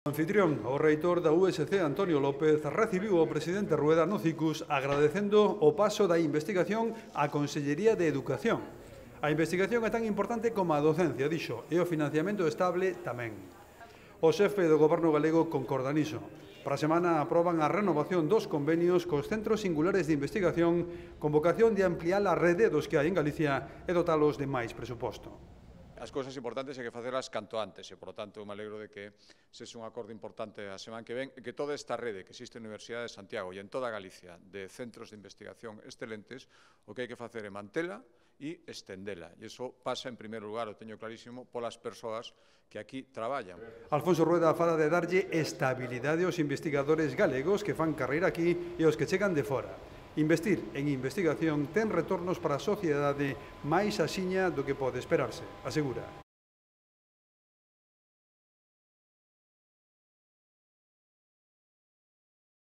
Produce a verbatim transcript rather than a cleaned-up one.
O anfitrión, o reitor da U S C, Antonio López, recibiu o presidente Rueda no Cicus agradecendo o paso da investigación á Consellería de Educación. A investigación é tan importante como a docencia, dixo, e o financiamento estable tamén. O xefe do goberno galego concorda niso. Para a semana aproban a renovación dos convenios cos centros singulares de investigación con vocación de ampliar a rede dos que hai en Galicia e dotalos de máis presuposto. As cousas importantes hai que facelas canto antes e, por lo tanto, me alegro de que sexe un acordo importante a semana que ven e que toda esta rede que existe na Universidade de Santiago e en toda Galicia de centros de investigación excelentes, o que hai que facer é mantela e estendela. E iso pasa, en primeiro lugar, o teño clarísimo, polas persoas que aquí traballan. Alfonso Rueda fala de darlle estabilidade aos investigadores galegos que fan carreira aquí e aos que chegan de fora. Investir en investigación ten retornos para a sociedade máis axiña do que pode esperarse, asegura.